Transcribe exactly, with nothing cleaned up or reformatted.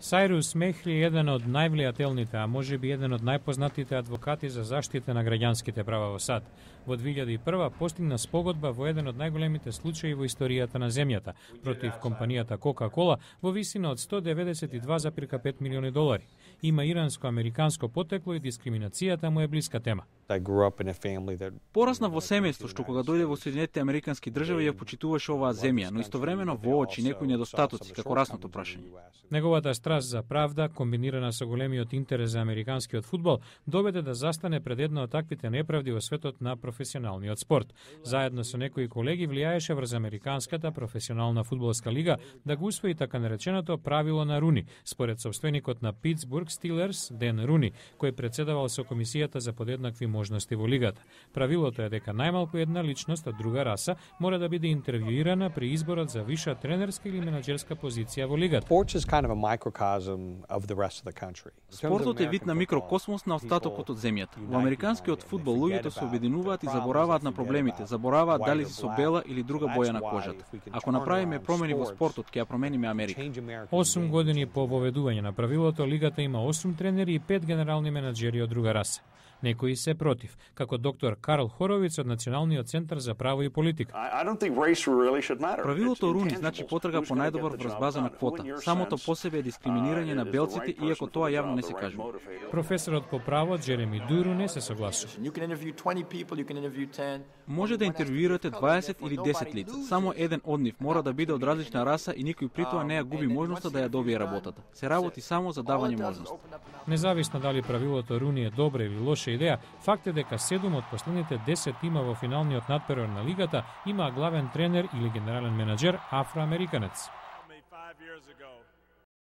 Сајрус Мехли е еден од највлијателните, а може би еден од најпознатите адвокати за заштита на граѓанските права во САД. Во две илјади и прва постигна спогодба во еден од најголемите случаи во историјата на земјата против компанијата Кока-Кола во висина од сто деветдесет и два зарез пет милиони долари. Има иранско-американско потекло и дискриминацијата му е блиска тема. Порасна во семејство што кога дојде во Соединетите Американски држави ја почитуваше оваа земја, но истовремено воочи некои недостатоци како расното прашање. Неговата страст за правда, комбинирана со големиот интерес за американскиот фудбал, доведе да застане пред една од таквите неправди во светот на професионалниот спорт. Заедно со некои колеги влијаеше врз американската професионална фудбалска лига да го усвои така нареченото правило на Руни, според собственикот на Питсбург Стилерс, Ден Руни, кој председавал со комисијата за подеднакви можности во лигата. Правилото е дека најмалку една личност од друга раса мора да биде интервјуирана при изборот за виша тренерска или менаџерска позиција во лигата. Спортот е вид на микрокосмос на остатокот од земјата. Во американскиот фудбал луѓето се обединуваат и забораваат на проблемите, забораваат дали се со бела или друга боја на кожата. Ако направиме промени во спортот, ќе ја промениме Америка. осум години по воведување на правилото, лигата има осум тренери и пет генерални менаџери од друга раса. Некои се против, како доктор Карл Хоровиц од Националниот центар за право и политика. Правилото Руни значи потрага по најдобар врз база на квота. Самото по себе е дискриминирање на белците, иако тоа јавно не се кажува. Професорот по право Джереми Дуру не се согласува. Може да интервјуирате дваесет или десет лица. Само еден од нив мора да биде од различна раса и никој при тоа не ја губи можноста да ја добие работата. Се работи само за давање можност. Независно дали правилото Руни е добра или лоша идеја, факт е дека седум од последните десет тима во финалниот надпериод на лигата има главен тренер или генерален менаџер афроамериканец.